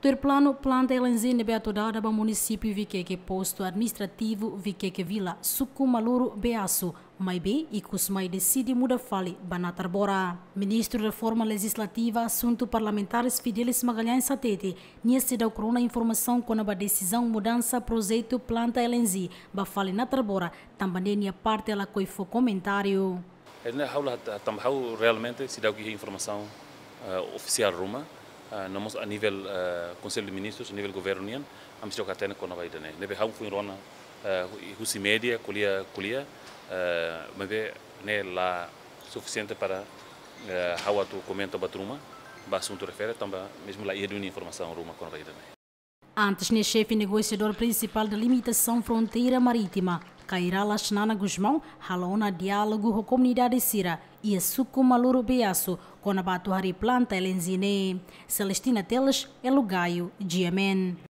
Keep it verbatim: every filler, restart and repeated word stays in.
Tuir planu, planta L N G ne'ebé atu dada ba munisípiu Viqueque, postu administrativu Viqueque Vila, suku Maluro Beaço, maibé ikus mai deside muda fali ba Natarbora. Ministru Reforma Lejizlativa, Asuntu Parlamentares Fidelis Magalhães hatete, nia seidauk rona informasaun kona-ba desizaun mudansa projetu planta L N G ba fali Natarbora, tanba ne'e nia parte lakohi fó komentáriu. Ne'e ha'u la, tanba ha'u realmente seidauk iha informasaun, eh, ofisiál ruma, eh, no mós a nivel, eh, Konsellu de Ministrus, a nivel governu nian, ami seidauk hatene kona-ba ida-ne'e. Ne'ebé ha'u foin rona, eh, hu-, husi média, ko'alia, ko'alia, eh, maibé ne'e la sufisiente para, eh, ha'u atu komenta buat ruma ba asuntu refere, tanba mezmu la iha duni informasaun ruma kona-ba ida-ne'e. Antes ne'e, xefe negosiadór prinsipál Delimitasaun Fronteira Marítima, Kay Rala Xanana Gusmão, halo ona diálogu ho komunidade sira iha suku Maluro Beaço, kona-ba atu harii planta L N G ne'e. Celestina Teles, Elo Gayo, G M N.